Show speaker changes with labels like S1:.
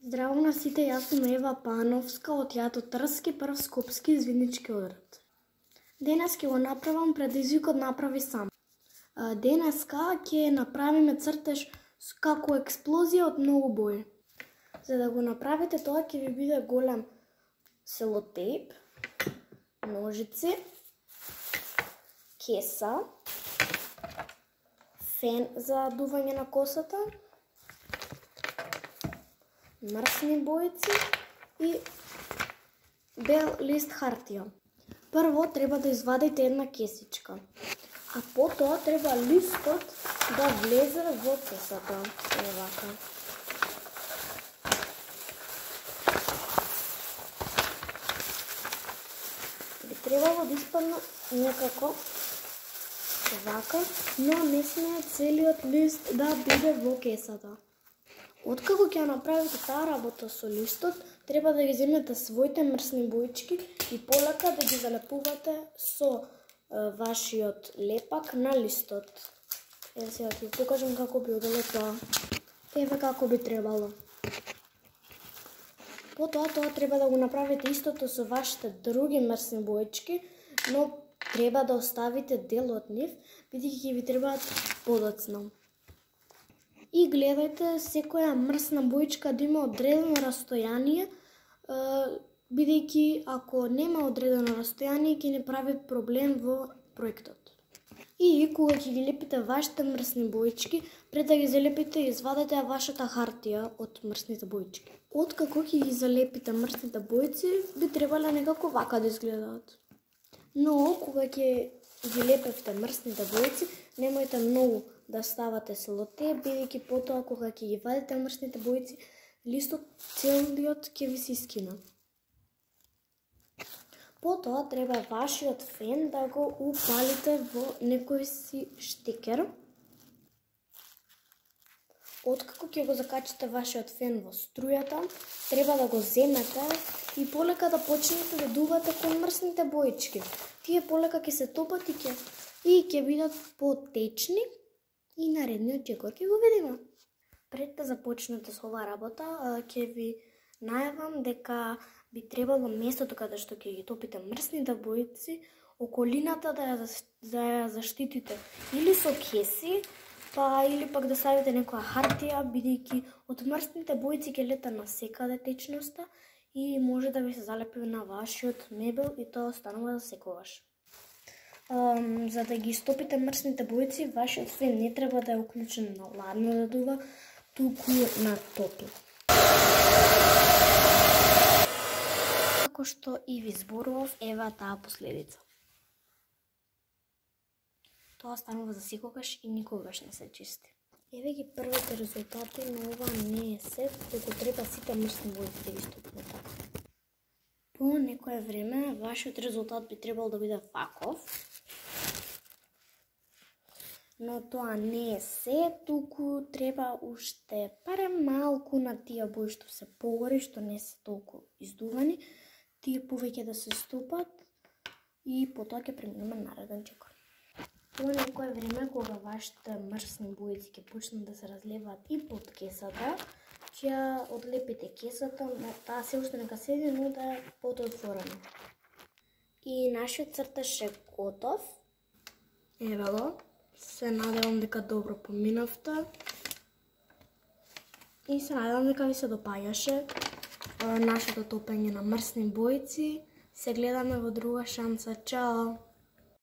S1: Здраво на сите, јас сум Ева Пановска од Театар Трски, прв скопски извиднички одред. Денес ќе го направам предизвикот направи сам. Денеска ќе направиме цртеж како експлозија од многу бои. За да го направите тоа ќе ви биде голем селотейп, ножици, кеса, фен за дување на косата, мрсни бојци и бел лист хартија. Прво треба да извадите една кесичка, а потоа треба листот да влезе во кесата. Евака. Би требало да испадне некако вака, но не смее целиот лист да биде во кесата. Откако ќе направите таа работа со листот, треба да ги земете своите мрсни боички и полека да ги залепувате со вашиот лепак на листот. Еве сега ќе ви покажам како би одело тоа. Еве како би требало. Потоа тоа треба да го направите истото со вашите други мрсни боички, но треба да оставите дел од нив, бидејќи ќе ви требаат подоцна. И гледајте секоја мрсна боичка да има одредено растојание, бидејќи ако нема одредено растојание ќе не прави проблем во проектот. И кога ќе ги лепите вашите мрсни боички, пред да ги залепите, извадете вашата хартија од мрсните боички. Откако ќе ги залепите мрсните бојци, би требале некако вака да изгледаат. Но кога ќе ги лепевте мрсните бојци, немојте многу да ставате селотейп, бидејќи потоа кога ќе ги вадите мрсните бојци, листот целиот ќе ви се искина. Потоа треба вашиот фен да го упалите во некој си штекер. Откако ќе го закачите вашиот фен во струјата, треба да го земете и полека да почнете да дувате кон мрсните боички. Тие полека ќе се топат и ќе бидат потечни и наредниот џегор ќе го видиме. Пред да започнете со оваа работа, ќе ви најавам дека би требало местото каде што ќе ги топите мрсните бојци, околината да ја заштитите или со кеси, или пак да ставите некоја хартија, бидејќи од мрсните бојци ќе лета насекаде течноста и може да ви се залепи на вашиот мебел и тоа останува за секогаш. За да ги стопите мрсните бојци, вашиот фен не треба да е уклучен на ладно да дува, туку на топло. Како што и ви зборував, ева таа последица. Тоа станува за секогаш и никогаш не се чисти. Еве ги првите резултати, но ова не е се, туку треба сите мрсни бојци да ги стопите така. По некое време, вашиот резултат би требал да биде ваков. Но тоа не е се, туку треба уште барем малку на тие бои што се погори, што не се толку издувани, тие повеќе да се стопат и потоа ќе преминеме нареден џегор. По некое време, кога вашите мрсни бојци ќе почнат да се разлеваат и под кесата, ќе одлепите кесата, но таа се уште нека седи, но да е подотворена. И нашиот цртеж е готов. Еве го. Се надевам дека добро поминавте. И се надевам дека ви се допаѓаше нашето топење на мрсни бојци. Се гледаме во друга шанса. Чао!